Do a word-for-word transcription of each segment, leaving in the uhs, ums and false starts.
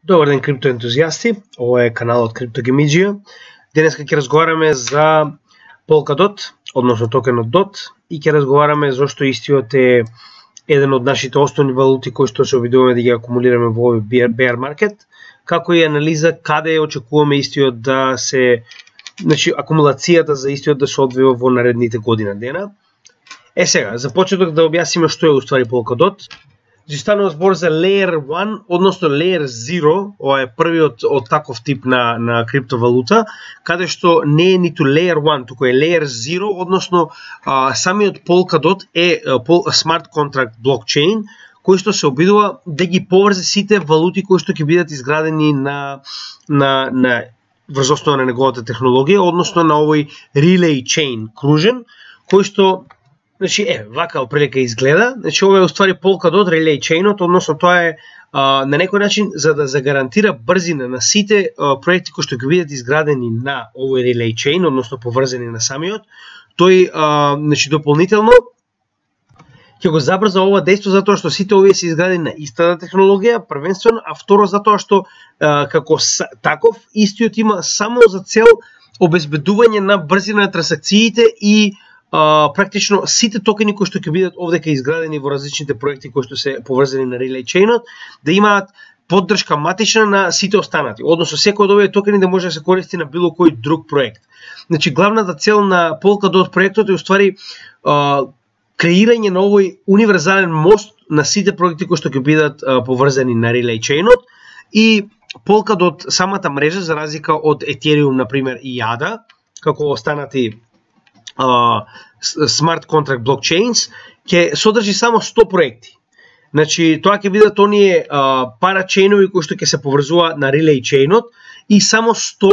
Добар ден, криптоентузијасти. Ова е каналот CryptoGameidea. Денеска ќе разговараме за Polkadot, односно токенот D O T, и ќе разговараме зошто истиот е еден од нашите основни валути кои што се обидуваме да ги акумулираме во овој bear market, како и анализа каде очекуваме истиот да се, значи акумулацијата за истиот да се одвива во наредните година дена. Е сега, за почеток да објасниме што е уствари Polkadot. Значи станува збор за Layer еден, односно Layer зеро, ова е првиот од таков тип на, на криптовалута, каде што не е ниту Layer еден, туку е Layer зеро, односно а, самиот Polkadot е а, Smart Contract Blockchain, кој што се обидува да ги поврзе сите валути кои што ќе бидат изградени на, на, на врз основа на неговата технологија, односно на овој Relay Chain кружен, кој што значи е вака оприлика изгледа. Значи ова е уствари Polkadot Relay Chainот, односно тоа е а, на некој начин за да загарантира брзина на сите а, проекти кои што ќе бидат изградени на овој Relay Chain, односно поврзани на самиот. Тој а, значи дополнително ќе го забрза ова дејство затоа што сите овие се изградени на истата технологија, првенствено, а второ затоа што а, како таков истиот има само за цел обезбедување на брзина на трансакциите и Uh, практично сите токени кои што ќе бидат овдека изградени во различните проекти кои што се поврзани на Relay Chainот, да имаат поддршка матична на сите останати. Односно секој од овие токени да може да се користи на било кој друг проект. Значи главната цел на Polkadot проектот е уствари uh, креирање на овој универзален мост на сите проекти кои што ќе бидат uh, поврзани на Relay Chainот, и Polkadot самата мрежа, за разлика од Ethereum на пример и ей ей ди, како останати Uh, Smart Contract Blockchains, ќе содржи само сто проекти. Значи, тоа ќе бидат оние uh, парачейнови кои што ќе се поврзуваат на Relay Chainот, и само сто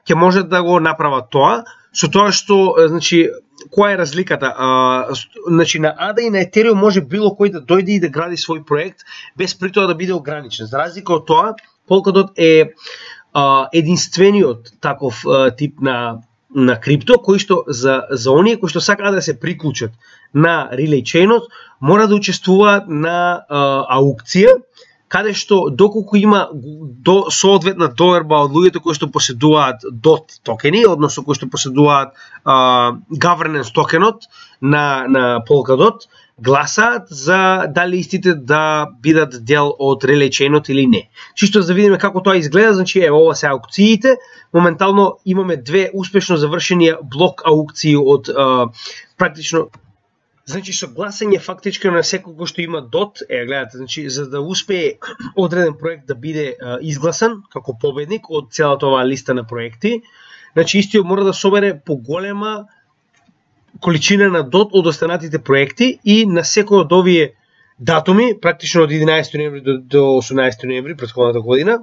ќе можат да го направат тоа, со тоа што, значи, која е разликата? Uh, значи, на ей ей ди и на Ethereum може било кој да дојде и да гради свој проект, без при тоа да биде ограничен. За разлика од тоа, Polkadot е uh, единствениот таков uh, тип на на крипто, кој што за, за оние кои што сакаат да се приклучат на Relay Chainot, мора да учествуваат на а, аукција, каде што доколку има до соодветна доверба од луѓето кои што поседуваат D O T токени, односно кои што поседуваат а, governance токенот на, на Polkadot, гласаат за дали истите да бидат дел од Relay Chainot или не. Чисто за да видиме како тоа изгледа, значи е ова се аукциите. Моментално имаме две успешно завршени блок аукции од а, практично, значи со гласање фактички на секој кој што има D O T, е гледате, значи за да успее одреден проект да биде а, изгласан како победник од целата оваа листа на проекти, значи истиот мора да собере поголема количина на D O T од останатите проекти, и на секој од овие датуми, практично од единаесети ноември до, до осумнаесети ноември претходната година,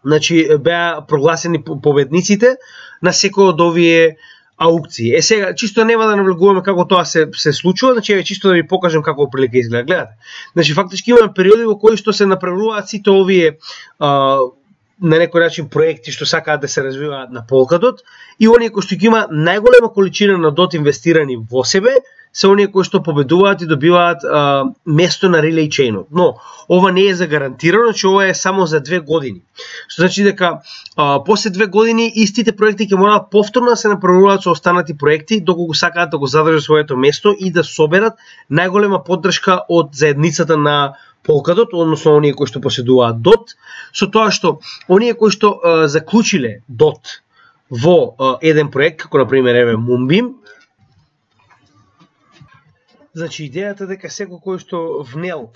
значи беа прогласени победниците на секој од овие аукции. Е сега, чисто нема да навлегуваме како тоа се, се случува, значи е чисто да ви покажам како прилика изгледа. Гледате, значи фактички имаме периоди во кои што се направуваат сите овие а, на некој начин проекти што сакаат да се развиваат на Polkadot, и оние кои што ги има најголема количина на D O T инвестирани во себе, се оние кои што победуваат и добиваат а, место на Relay Chainot. Но ова не е загарантирано, че ова е само за две години. Што значи дека а, после две години истите проекти ќе мораат повторно да се направуваат со останати проекти доколку сакаат да го задржат своето место и да соберат најголема поддршка од заедницата на Polkadot, односно оние кои што поседуваат D O T, со тоа што оние кои што а, заклучиле D O T во а, еден проект, како на пример еве Moonbeam, значи идејата дека секој кој што внел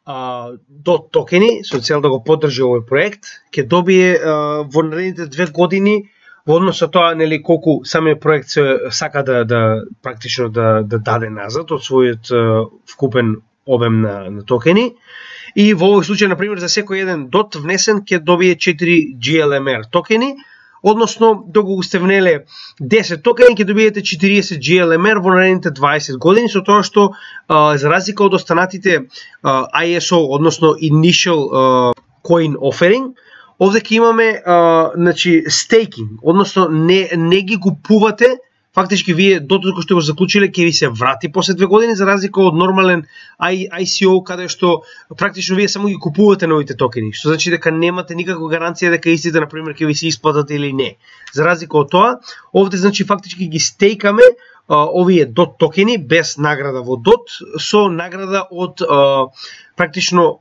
а, D O T токени со цел да го поддржи овој проект, ќе добие а, во наредните две години, во однос со тоа нели колку самиот проект се сака да да практично да да даде назад од својот а, вкупен обем на, на токени. И во овој случај, на пример, за секој еден D O T внесен ќе добие четири джи ел ем ар токени, односно доколку сте внеле десет токени ќе добиете четириесет джи ел ем ар во наредните дваесет години, со тоа што а, за разлика од останатите а, ай ес о, односно Initial а, Coin Offering, овде ќе имаме а, значи стейкинг, односно не не ги купувате фактички вие дотука што го заклучиле ќе ви се врати после две години, за разлика од нормален ай си о каде што практично вие само ги купувате новите токени, што значи дека немате никаква гаранција дека истите на пример ќе ви се исплатат или не. За разлика од тоа, овде значи фактички ги стейкаме а, овие дот токени без награда во дот со награда од а, практично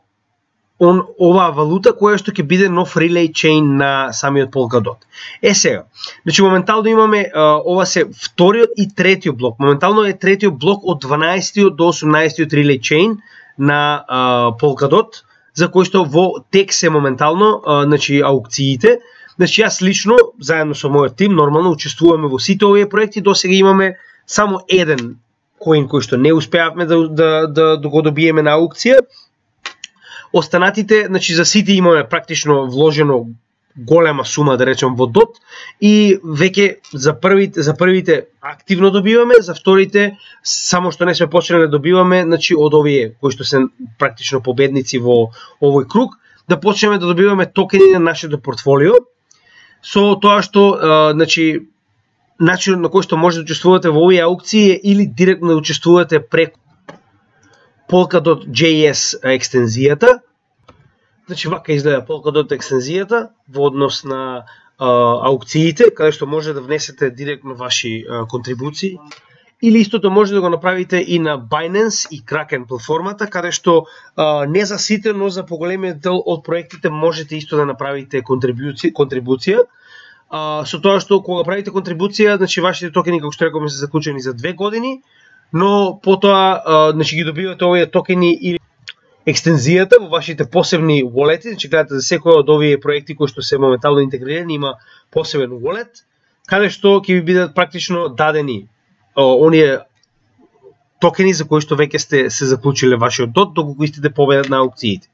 он оваа валута која што ќе биде нов relay chain на самиот Polkadot. Е сега, значи моментално имаме а, ова се вториот и третиот блок. Моментално е третиот блок од дванаесеттиот до осумнаесеттиот relay chain на а, Polkadot, за кој што во тек се моментално, а, значи аукциите. Значи јас лично заедно со мојот тим нормално учествуваме во сите овие проекти. Досега имаме само еден коин кој што не успеавме да да да, да го добиеме на аукција. Останатите, значи за сите имаме практично вложено голема сума, да речем, во дот и веќе за првите за првите активно добиваме, за вторите само што не сме почнали да добиваме, значи од овие кои што се практично победници во овој круг, да почнеме да добиваме токени на нашето портфолио. Со тоа што а, значи начинот на кој што може да учествувате во овие аукции е или директно да учествувате преку Polkadot джей ес екстензијата. Значи вака изгледа Polkadot екстензијата во однос на а, аукциите, каде што може да внесете директно ваши а, контрибуции. Или истото може да го направите и на Binance и Kraken платформата, каде што а, не за сите, но за поголемиот дел од проектите можете исто да направите контрибуција. контрибуција. А, со тоа што кога правите контрибуција, значи вашите токени, како што рековме, се заклучени за две години, но потоа а, значи ги добивате овие токени или екстензијата во вашите посебни wallet-и, значи гледате за секој од овие проекти кои што се моментално интегрирани има посебен wallet, каде што ќе ви бидат практично дадени о, оние токени за кои што веќе сте се заклучиле вашиот дот доколку истите победат на аукциите.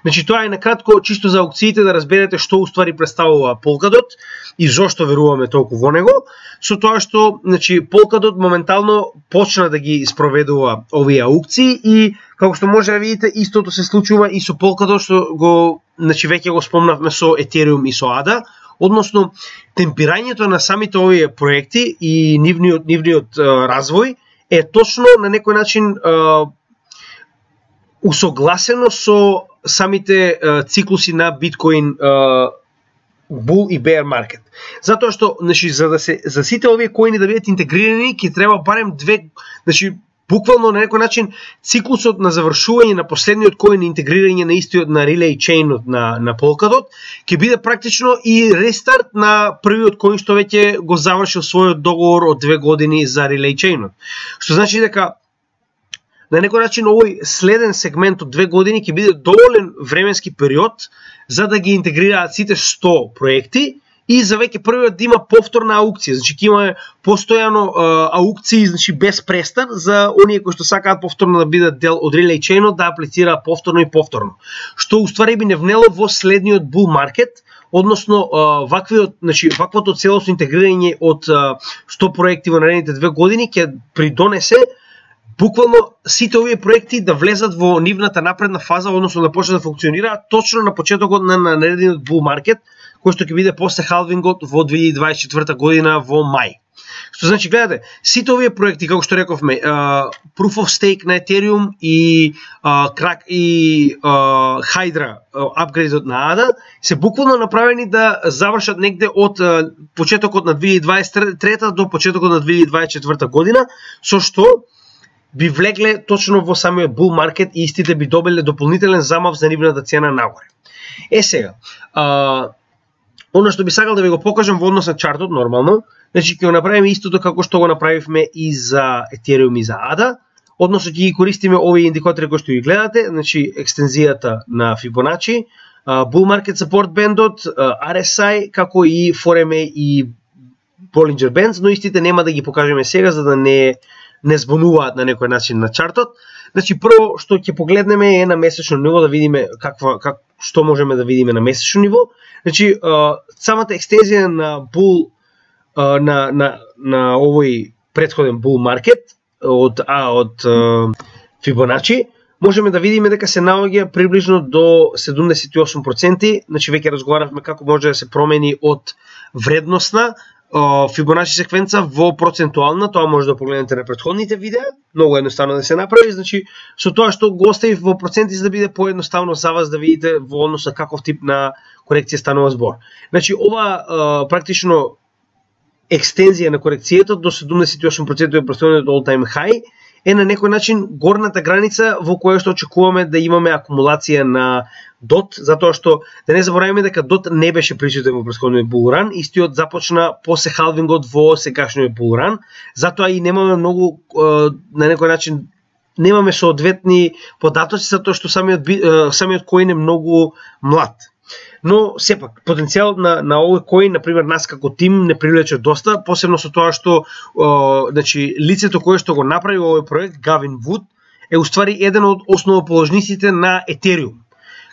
Значи тоа е накратко чисто за аукциите, да разберете што уствари представува Polkadot и зошто веруваме толку во него, со тоа што значи Polkadot моментално почна да ги спроведува овие аукции и како што може да видите истото се случува и со Polkadot што го значи веќе го спомнавме со Ethereum и со ей ди ей, односно темпирањето на самите овие проекти и нивниот нивниот а, развој е точно на некој начин а, усогласено со самите а, циклуси на биткоин а, bull и bear market. Затоа што значи за да се за сите овие коини да бидат интегрирани, ќе треба барем две, значи буквално на некој начин циклусот на завршување на последниот коин и интегрирање на истиот на relay chainот на на Polkadot ќе биде практично и рестарт на првиот коин што веќе го завршил својот договор од две години за relay chainот. Што значи дека на некој начин овој следен сегмент од две години ќе биде доволен временски период за да ги интегрираат сите сто проекти и за веќе првиот да има повторна аукција. Значи ќе имаме постојано а, аукции, значи без престан за оние кои што сакаат повторно да бидат дел од relay chainот да аплицираат повторно и повторно. Што уствари би не внело во следниот bull market, односно а, ваквиот, значи ваквото целосно интегрирање од а, сто проекти во наредните две години ќе придонесе буквално сите овие проекти да влезат во нивната напредна фаза, односно да почнат да функционираат точно на почетокот на наредниот bull market, кој што ќе биде после халвингот во две илјади дваесет и четврта година во мај. Што значи гледате, сите овие проекти како што рековме, uh, Proof of Stake на Ethereum и uh, Crack и uh, Hydra uh, апгрейдот на ей ди ей се буквално направени да завршат негде од uh, почетокот на две илјади дваесет и трета до почетокот на две илјади дваесет и четврта година, со што би влегле точно во самиот bull market и истите би добиле дополнителен замав за нивната цена нагоре. Е сега, uh, Оно што би сакал да ви го покажам во однос на чартот нормално, значи ќе го направиме истото како што го направивме и за Ethereum и за ей ди ей, односно ќе ги користиме овие индикатори кои што ги гледате, значи екстензијата на Fibonacci, Bull Market Support Bandот, ар ес ај, како и фор ем еј и Bollinger Bands, но истите нема да ги покажеме сега за да не не збунуваат на некој начин на чартот. Значи прво што ќе погледнеме е на месечно ниво да видиме каква как што можеме да видиме на месечно ниво. Значи самата екстензија на bull на на на овој претходен bull market од а од Fibonacci можеме да видиме дека се наоѓа приближно до седумдесет и осум проценти, значи веќе разговаравме како може да се промени од вредносна Фибоначи секвенца во процентуална, тоа може да погледнете на претходните видеа, многу едноставно да се направи, значи со тоа што го оставив во проценти за да биде поедноставно за вас да видите во однос на каков тип на корекција станува збор. Значи ова практично екстензија на корекцијата до седумдесет и осум проценти од престојниот all time high е на некој начин горната граница во која што очекуваме да имаме акумулација на дот, затоа што да не забораваме дека дот не беше присутен во претходниот булран, истиот започна после халвингот во сегашниот булран, затоа и немаме многу на некој начин немаме соодветни податоци затоа што самиот самиот коин е многу млад. Но сепак потенцијалот на на овој коин, на пример нас како тим не привлече доста, посебно со тоа што о, значи лицето кое што го направи овој проект, Гавин Вуд, е уствари еден од основоположниците на Етериум,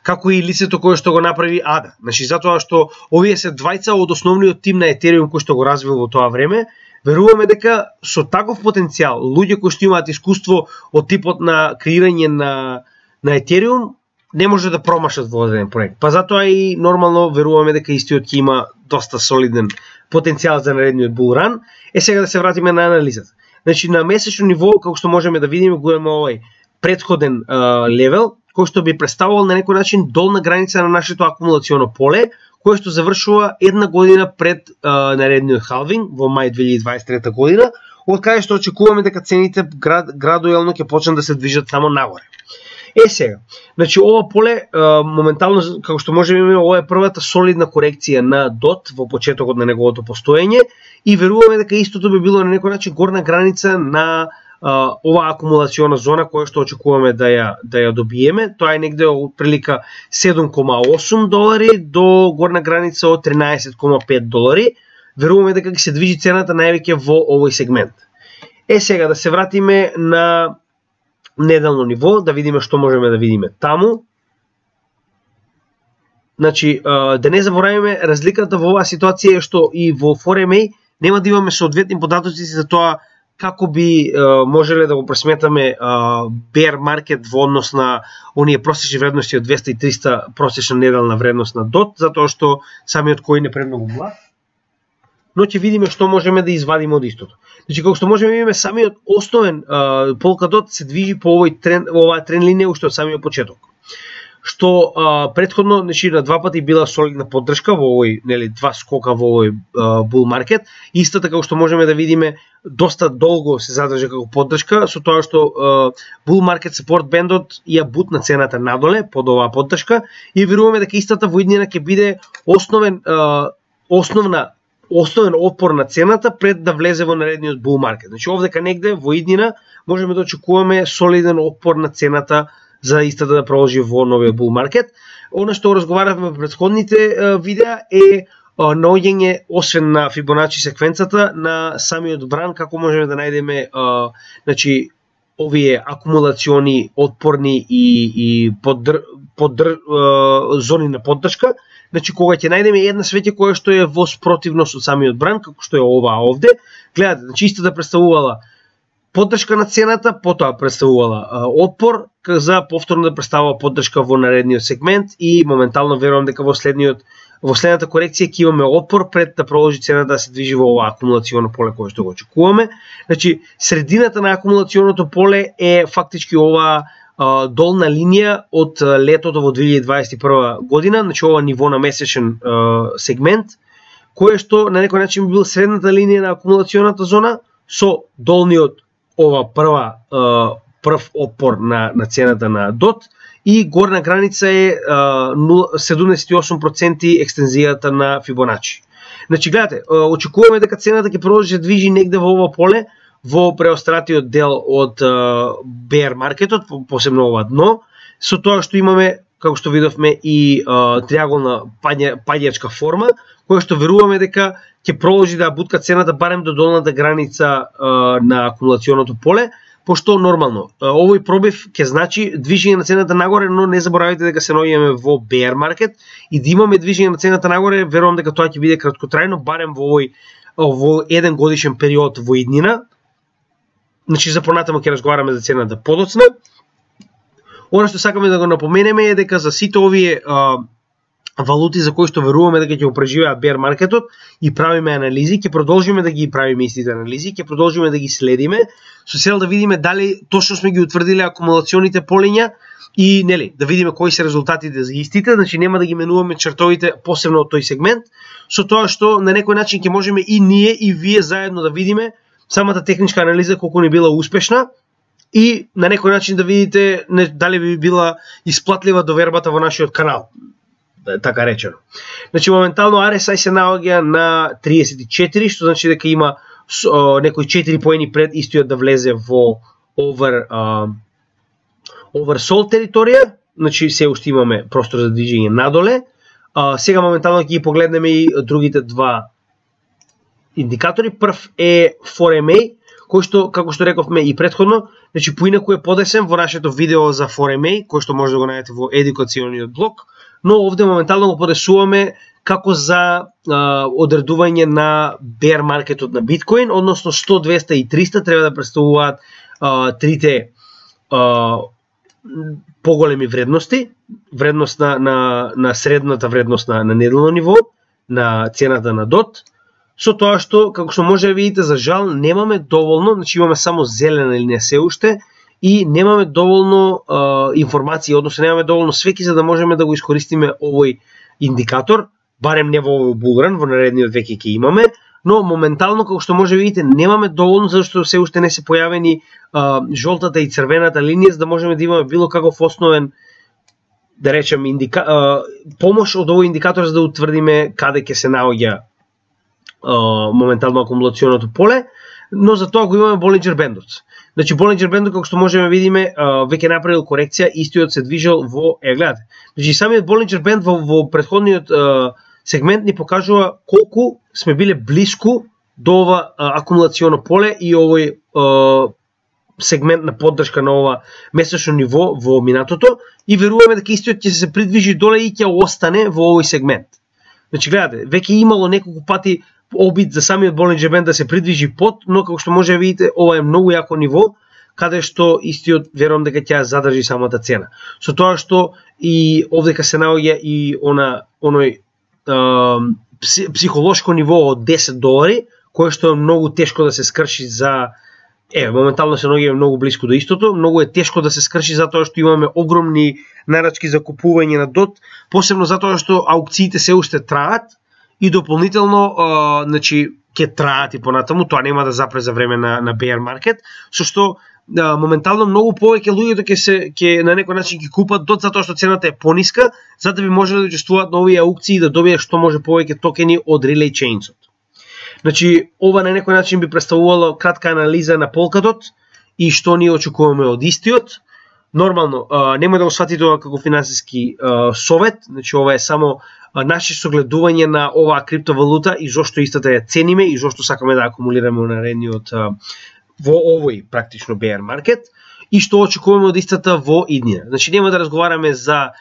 како и лицето кое што го направи Ада. Значи затоа што овие се двајца од основниот тим на Етериум кој што го развил во тоа време, веруваме дека со таков потенцијал, луѓе кои што имаат искуство од типот на креирање на на Етериум не може да промашат во одреден проект. Па затоа и нормално веруваме дека истиот ќе има доста солиден потенцијал за наредниот булран. Е сега да се вратиме на анализата. Значи на месечно ниво, како што можеме да видиме, го имаме овој претходен а, левел кој што би представувал на некој начин долна граница на нашето акумулационо поле, кој што завршува една година пред а, наредниот халвинг во мај две илјади дваесет и трета година, од каде што очекуваме дека цените град, градуелно ќе почнат да се движат само нагоре. Е сега, значи ова поле а, моментално, како што можеме имаме, ова е првата солидна корекција на дот во почетокот на неговото постоење и веруваме дека истото би било на некој начин горна граница на а, оваа акумулациона зона која што очекуваме да ја да ја добиеме. Тоа е негде од прилика седум кома осум долари до горна граница од тринаесет кома пет долари. Веруваме дека ќе се движи цената највеќе во овој сегмент. Е сега да се вратиме на неделно ниво, да видиме што можеме да видиме таму. Значи, да не забораваме, разликата во оваа ситуација е што и во фор ем ей нема да имаме соодветни податоци за тоа како би можеле да го пресметаме bear market во однос на оние просечни вредности од двеста и триста просечна неделна вредност на дот, затоа што самиот коин е премногу млад. Но ќе видиме што можеме да извадиме од истото. Значи, како што можеме да видиме, самиот основен Polkadot се движи по овој трен, оваа трен линија уште од самиот почеток. Што а, предходно, значи, на два пати била солидна поддршка во овој, нели, два скока во овој bull market. Истата како што можеме да видиме, доста долго се задржа како поддршка, со тоа што а, bull market support бендот ја бутна цената надоле под оваа поддршка и веруваме дека истата во иднина ќе биде основен а, основна основен отпор на цената пред да влезе во наредниот bull market. Значи овдека негде во иднина можеме да очекуваме солиден отпор на цената за истата да продолжи во новиот bull market. Она што разговаравме во претходните видеа е наоѓање освен на Фибоначи секвенцата на самиот бран, како можеме да најдеме значи овие акумулациони отпорни и и поддр, поддр, зони на поддршка. Значи, кога ќе најдеме една свеќе која што е во спротивност од самиот бран, како што е оваа овде, гледате, значи исто да представувала поддршка на цената, потоа представувала а, отпор, за повторно да представува поддршка во наредниот сегмент и моментално верувам дека во следниот во следната корекција ќе имаме отпор пред да продолжи цената да се движи во оваа акумулационо поле кое што го очекуваме. Значи, средината на акумулационото поле е фактички оваа долна линија од летото во две илјади дваесет и прва година, значи ова ниво на месечен uh, сегмент, кое што на некој начин бил средната линија на акумулационата зона со долниот ова прва uh, прв отпор на на цената на дот и горна граница е uh, седумдесет и осум проценти екстензијата на Фибоначи. Значи гледате, uh, очекуваме дека цената ќе продолжи да движи негде во ова поле во преостратиот дел од uh, bear маркетот, посебно ова дно, со тоа што имаме, како што видовме, и uh, триаголна паѓа, паѓачка форма, која што веруваме дека ќе продолжи да бутка цената барем до долната граница uh, на акумулационото поле, пошто нормално uh, овој пробив ќе значи движење на цената нагоре, но не заборавајте дека се наоѓаме во bear маркет и да имаме движење на цената нагоре, верувам дека тоа ќе биде краткотрајно, барем во овој во еден годишен период во иднина. Значи, за понатаму ќе разговараме за цената подоцна. Она што сакаме да го напоменеме е дека за сите овие а, валути за кои што веруваме дека ќе го преживеат bear маркетот и правиме анализи, ќе продолжиме да ги правиме истите анализи, ќе продолжиме да ги следиме со цел да видиме дали точно сме ги утврдиле акумулационите полиња и нели да видиме кои се резултатите за истите, значи нема да ги менуваме чартовите посебно од тој сегмент, со тоа што на некој начин ќе можеме и ние и вие заедно да видиме самата техничка анализа колку ни била успешна и на некој начин да видите не, дали би била исплатлива довербата во нашиот канал, така речено. Значи моментално Ар Ес Ај се наоѓа на триесет и четири, што значи дека има о, некои четири поени пред истиот да влезе во over uh, oversold територија, значи се уште имаме простор за движење надоле. Uh, сега моментално ќе ги погледнеме и другите два индикатори. Прв е фор Ем Еј, кој што, како што рековме и претходно, значи поинаку е подесен во нашето видео за фор Ем Еј, кој што може да го најдете во едукациониот блог, но овде моментално го подесуваме како за а, одредување на bear маркетот на биткоин, односно сто, двеста и триста треба да представуваат а, трите а, поголеми вредности, вредност на, на, на средната вредност на, на неделно ниво, на цената на дот, со тоа што, како што може да видите, за жал немаме доволно, значи имаме само зелена линија се уште, и немаме доволно а, информации, односно немаме доволно свеки за да можеме да го искористиме овој индикатор, барем не во овој булран, во наредниот веќе ќе имаме, но моментално, како што може да видите, немаме доволно, зашто се уште не се појавени а, жолтата и црвената линија, за да можеме да имаме било каков основен, да речем, индика... а, помош од овој индикатор за да утврдиме каде ќе се наоѓа а, моментално акумулационото поле, но за тоа го имаме Болинџер бендот. Значи Болинџер бендот, како што можеме да видиме, веќе направил корекција, истиот се движел во, е гледате. Значи самиот Болинџер бенд во, во претходниот а, сегмент ни покажува колку сме биле блиску до ова а, акумулационо поле и овој а, сегмент на поддршка на ова месечно ниво во минатото и веруваме дека истиот ќе се придвижи доле и ќе остане во овој сегмент. Значи гледате, веќе имало неколку пати обид за самиот Болинџер бенд да се придвижи под, но како што може да видите, ова е многу јако ниво, каде што истиот верувам дека ќе задржи самата цена. Со тоа што и овдека се наоѓа и она оној е, психолошко ниво од десет долари, кое што е многу тешко да се скрши за Е, моментално се наоѓаме многу блиску до истото, многу е тешко да се скрши затоа што имаме огромни нарачки за купување на дот, посебно затоа што аукциите се уште траат и дополнително, а, значи, ќе траат и понатаму, тоа нема да запре за време на, на bear маркет, со што а, моментално многу повеќе луѓето ќе се ќе на некој начин ќе купат дот затоа што цената е пониска, за да би можеле да учествуваат на овие аукции и да добијат што може повеќе токени од Relay Chainsот. Значи, ова на некој начин би представувало кратка анализа на Polkadot и што ние очекуваме од истиот. Нормално, нема да го сватите ова како финансиски а, совет, значи ова е само а, наше согледување на оваа криптовалута и зошто истата ја цениме и зошто сакаме да акумулираме наредниот а, во овој практично bear маркет и што очекуваме од истата во иднина. Значи, нема да разговараме за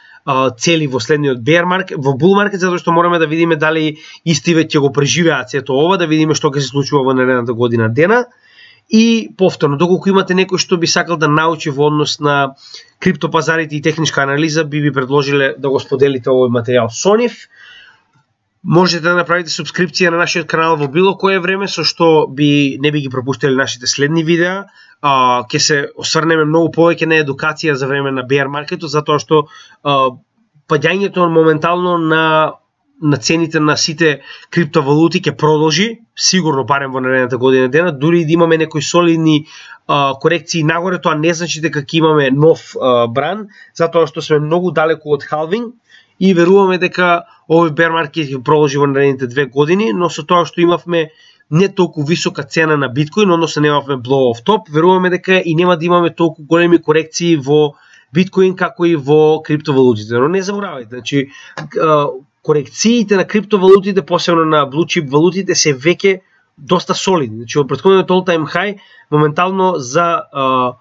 цели во следниот bear маркет, во bull маркет, затоа што мораме да видиме дали истиве ќе го преживеат сето ова, да видиме што ќе се случува во наредната година дена. И повторно, доколку имате некој што би сакал да научи во однос на криптопазарите и техничка анализа, би ви предложиле да го споделите овој материјал со нив. Можете да направите субскрипција на нашиот канал во било кое време, со што би не би ги пропуштили нашите следни видеа. Uh, ќе се осврнеме многу повеќе на едукација за време на bear маркетот, затоа што uh, падањето моментално на на цените на сите криптовалути ќе продолжи, сигурно барем во наредната година дена, дури да имаме некои солидни uh, корекции нагоре, тоа не значи дека ќе имаме нов uh, бран, затоа што сме многу далеку од халвинг и веруваме дека овој bear маркет ќе продолжи во наредните две години, но со тоа што имавме не толку висока цена на биткоин, односно немавме blow off top, веруваме дека и нема да имаме толку големи корекции во биткоин како и во криптовалутите. Но не заборавајте, значи корекциите на криптовалутите, посебно на blue chip валутите, се веќе доста солидни. Значи во претходниот all time high моментално за uh,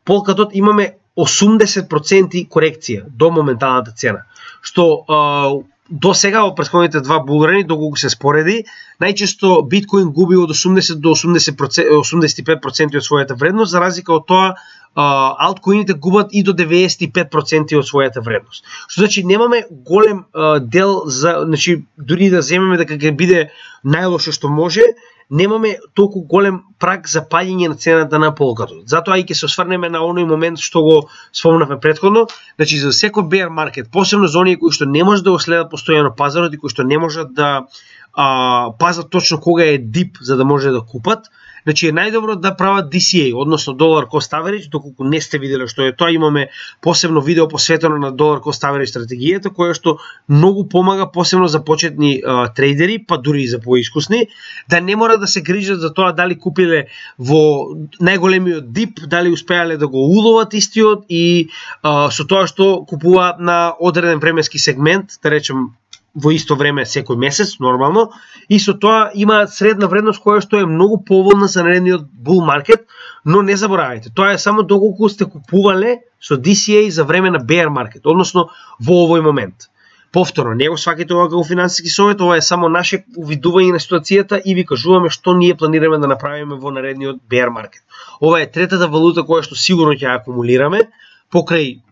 Polkadot имаме осумдесет проценти корекција до моменталната цена, што uh, до сега во претходните два булрани, доколку се спореди, најчесто биткоин губи од осумдесет до осумдесет и пет проценти од својата вредност, за разлика од тоа алткоините губат и до деветдесет и пет проценти од својата вредност. Што значи немаме голем а, дел за, значи дури да земеме дека ќе биде најлошо што може, немаме толку голем праг за паѓање на цената на Polkadot. Затоа и ќе се осврнеме на оној момент што го спомнавме претходно, значи за секој bear market, посебно за оние кои што не можат да го следат постојано пазарот и кои што не можат да а, пазат точно кога е дип за да може да купат, значи е најдобро да прават ди си ей, односно Dollar Cost Average, доколку не сте виделе што е тоа, имаме посебно видео посветено на Dollar Cost Average стратегијата, која што многу помага посебно за почетни а, трейдери, па дури и за поискусни, да не мора да се грижат за тоа дали купиле во најголемиот дип, дали успеале да го уловат истиот и а, со тоа што купуваат на одреден временски сегмент, да речем во исто време секој месец, нормално, и со тоа имаат средна вредност која што е многу поволна за наредниот bull market, но не заборавајте, тоа е само доколку сте купувале со ди си ей за време на bear market, односно во овој момент. Повторно, не го сваќате ова како финансиски совет, ова е само наше увидување на ситуацијата и ви кажуваме што ние планираме да направиме во наредниот bear market. Ова е третата валута која што сигурно ќе ја акумулираме, покрај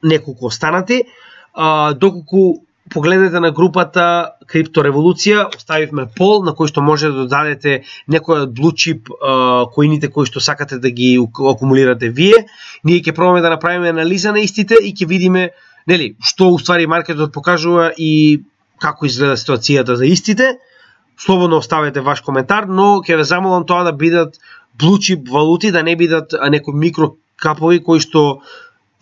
неколку останати, а, доколку погледнете на групата Криптореволуција, оставивме пол на кој што може да додадете некој од blue chip uh, коините кои што сакате да ги акумулирате вие. Ние ќе пробаме да направиме анализа на истите и ќе видиме, нели, што уствари маркетот покажува и како изгледа ситуацијата за истите. Слободно оставете ваш коментар, но ќе ве замолам тоа да бидат blue chip валути, да не бидат некои микрокапови кои што,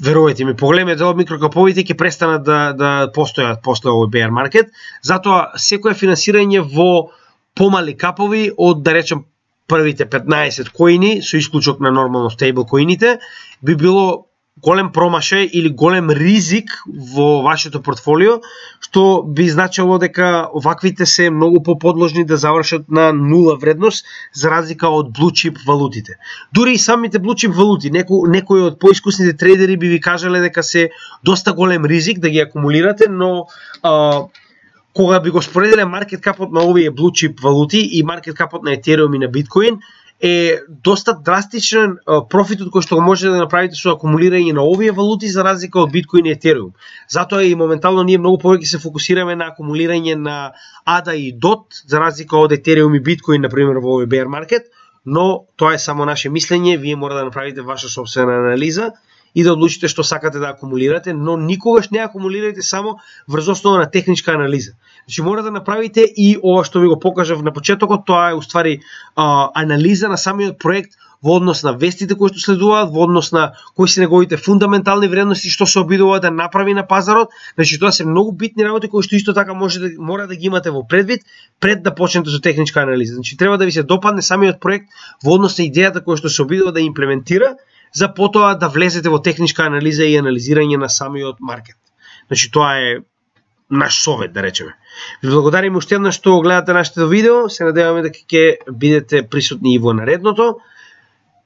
верувајте ми, поголемиот дел од микрокаповите ќе престанат да, да постојат после овој bear market. Затоа секое финансирање во помали капови од, да речем, првите петнаесет коини, со исклучок на нормално стейбл коините, би било голем промашај или голем ризик во вашето портфолио, што би значило дека оваквите се многу поподложни да завршат на нула вредност, за разлика од blue chip валутите. Дури и самите blue chip валути, неко, некои од поискусните трейдери би ви кажале дека се доста голем ризик да ги акумулирате, но а, кога би го споределе маркет капот на овие blue chip валути и маркет капот на Ethereum и на Bitcoin, е доста драстичен профитот кој што го можете да направите со акумулирање на овие валути за разлика од Bitcoin и Ethereum. Затоа и моментално ние многу повеќе се фокусираме на акумулирање на ей ди ей и дот за разлика од Ethereum и Bitcoin на пример во овој bear market, но тоа е само наше мислење, вие мора да направите ваша собствена анализа и да одлучите што сакате да акумулирате, но никогаш не акумулирате само врз основа на техничка анализа. Значи мора да направите и ова што ви го покажав на почетокот, тоа е уствари а, анализа на самиот проект во однос на вестите кои што следуваат, во однос на кои се неговите фундаментални вредности, што се обидува да направи на пазарот. Значи тоа се многу битни работи кои што исто така може да мора да ги имате во предвид пред да почнете со техничка анализа. Значи треба да ви се допадне самиот проект во однос на идејата која што се обидува да имплементира, за потоа да влезете во техничка анализа и анализирање на самиот маркет. Значи тоа е наш совет, да речеме. Ви благодариме уште еднаш што гледате нашето видео, се надеваме дека ќе бидете присутни и во наредното.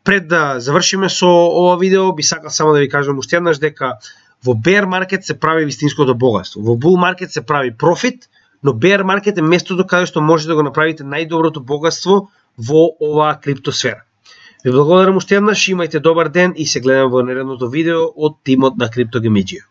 Пред да завршиме со ова видео, би сакал само да ви кажам уште еднаш дека во bear market се прави вистинското богатство. Во bull market се прави профит, но bear market е местото каде што може да го направите најдоброто богатство во оваа криптосфера. Ви благодарам уште еднаш, имајте добар ден и се гледам во наредното видео од тимот на CryptoGamedžија.